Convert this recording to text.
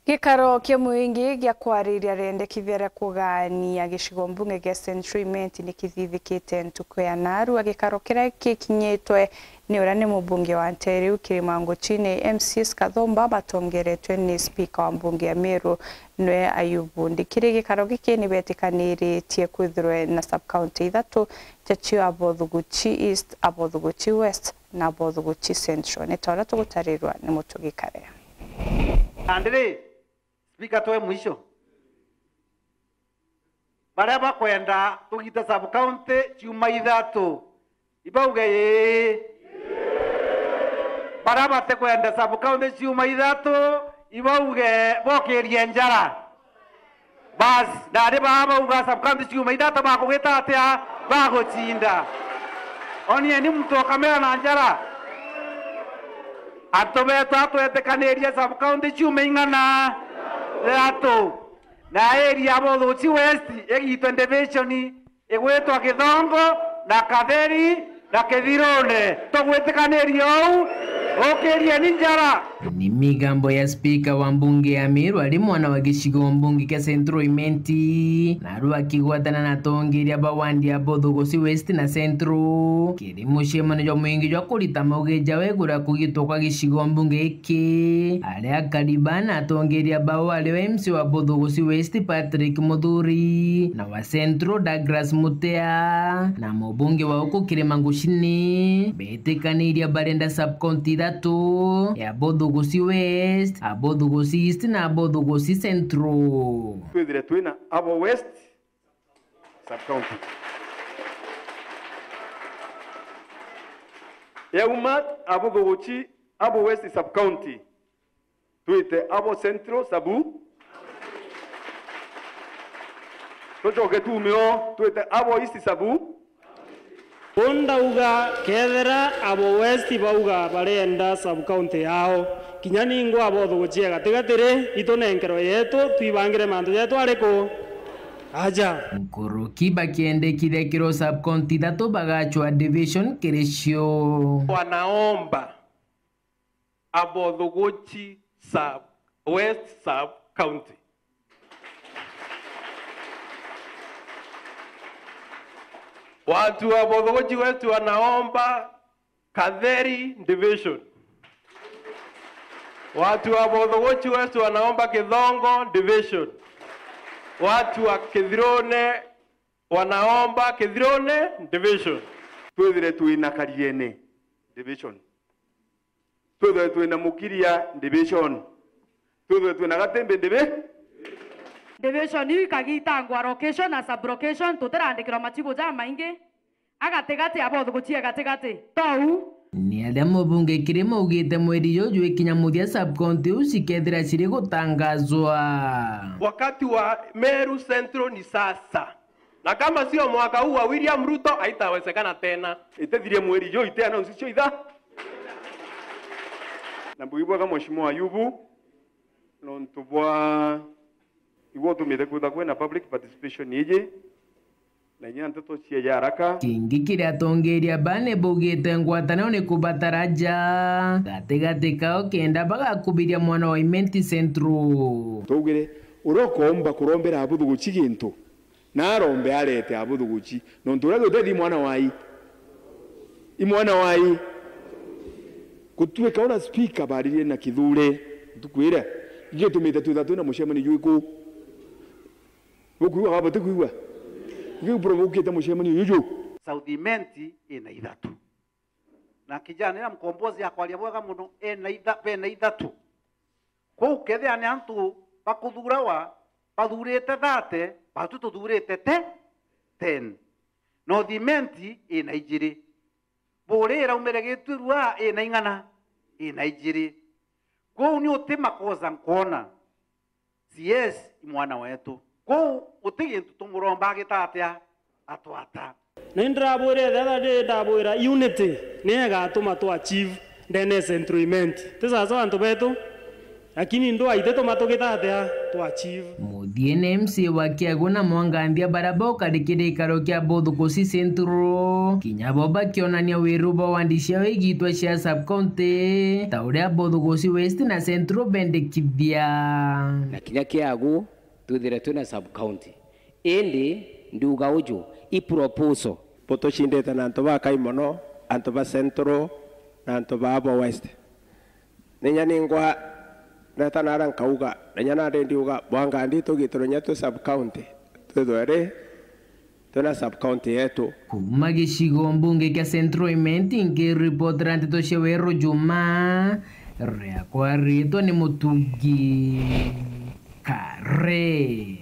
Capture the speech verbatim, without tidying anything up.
Gikaro kia muingi gia kwariria rendekithia ria kugaania gicigo mbunge gia Central Imenti ni kithithikite ntuku ya naarua. Gikaro kiria gikinyitwe ni uria ni mubunge wa Nteriu Kirimanguchini, M C S Kathumba, batongeretwe ni spika wa mbunge ya Meru, nwe Ayubu Ndikiri. Gikaro giki ni betikaniritie kwithirwe na sub-county ithatu, jacio Abothuguchi East, Abothuguchi West na Abothuguchi Central. Ni ta uria tugutarirwa ni Mutugi Karea. Nandi ri, Spika, twe mwisho. Baria bakwenda tugite sub-county ciuma ithatu, ibauge ii. Baria batikwenda sub-county ciuma ithatu, ibauge bokirie njara. Bas, nandi baa bauga sub-county ciuma ithatu bakugita atia? Bagucinda. Onieni muntu okamera na njara. Antu betu atwetikanirie sub-county ciuma ing'ana? Ithatu. Na area ya Abothuguchi West igitwe division igwitwa Kithongo na Katheri na Kithirune. Tugwitikanirie uu? Ukirieni njara. Ni migambo ya spika wa mbunge ya Meru ari mwana wa gicigo mbunge kia Central Imenti, naarua akigwatana na atongeria ba wandi ya Abothuguchi West na Central. Kiri mucemanio jwa mwingi jwa kurita mauge jawe iguru ria kugitwa kwa gicigo mbunge giki, aria akari baa na atongeria bao ario M C wa Abothuguchi West Patrick Muthuri na wa Central Douglas Mutea na mubunge wa uku Kirimanguchini betikaniria barenda sub-county ithatu ya Abothuguchi West, Abothuguchi East na Abothuguchi Central. Twithire twina Abo West sub-county. Yauma Abothuguchi, Abo West sub-county, twite Abo Central sabu. Tucoke tuume o, twite Abo East sabu. Uu ndauga, kethira Abo West bauga barenda sub-county yao, kinya ningwa Abothuguchi e gatigati ri, itunenkerwe yetu, twibangire mantu jetu ariku? Aja. Nkuruki bakiendekithia kiro sub-county ithatu bagacwa division kiri cio. Wanaomba Abothuguchi sub, West sub-county. Watu wa Abothuguchi West wanaomba Katheri division. Watu wa Abothuguchi West wanaomba Kithongo division. Watu wa Kithirune wanaomba Kithirune division. Twithire twina Kariene division. Twithwe twina Mukiria division. Twithwe twina Gatimbi divi-, division iu ikagitangwa location na sub-location, tutirandikirwa machibu jamaingi. Agatigati, Abothuguchi e gatigati. Tou. Ni aria mubunge Kirima augite mweri juju ikinya muthia sub-county iu cikethira ciri gutangazwa. Wakati wa Meru Central ni sasa. Na kama sio mwaka huu wa William Ruto, haitawezekana tena. Itethirie mweri juu, ite announce cio itha. Na mbugi bwega Mheshimiwa Ayubu, nontu bwa igwe utumite kwitha kwina public participation iji, na inya nteto cia ya haraka. Kingi kiria atongeria bane baugite ngwataniro ni kubatara ja gatigati kao kenda bagakubiria mwana wa Imenti Central. Twaugire, uria ukoomba kurombera Abuthuguchi gintu, na arombe arete Abuthuguchi, nontu uria gutethia i mwana wai. I mwana wai. Gutuika uria speaker baaririe na Kithure ntuku iria, igitumite twitha twina mucemanio jwiku. Bukwigua kana butikwigua? Igiu bro bukite mucemanio juju. South Imenti ina ithatu. Na kijana ira mkombozi akwaria bwega muno, ena itha-, bena ithatu. Kwou kethira ni antu bakuthurawa, bathurite thirty, batu tuthurite te-, ten. North Imenti ina ijiri. Buuri iraumire Giturua ina ing'ana? Ina ijiri. Kwou ni uti makosa nkwona. C S i mwana wetu. Kwou guti gintu tumuromba agita atia? Atwata. Na indirabwire thethia ndi ndabwira unity niyo igatuma twa achieve ndene ya Central Imenti. Ti sawa sawa antu betu? Lakini ndwa itituma tugita atia? to achieve. Muthiene M C A wa Kiagu na Mwanganthia baria bokari kirikaro kia Bothukusi Central, kinya bo bakionania wiru bwa wandi ciao igitwa cia sub-county, ta uria Bothukusi West na Central bendekithia. Na kinya Kiagu twithire twina sub-county. Indi ndiuga uju, i proposal. Butucindite na antu bakai mono, antu ba Central na antu ba abo West. Ninya ningwa ndeta nara nkauga, ninya nandi ndiuga, Bwangandi tugitire nya twi sub-county, twithwe ri twina sub-county yetu. Kuuma gicigo mbunge kia Central Imenti, nkiripotera nteto cia Weru Juma, riakwa ritwa ni Mutugi Kare.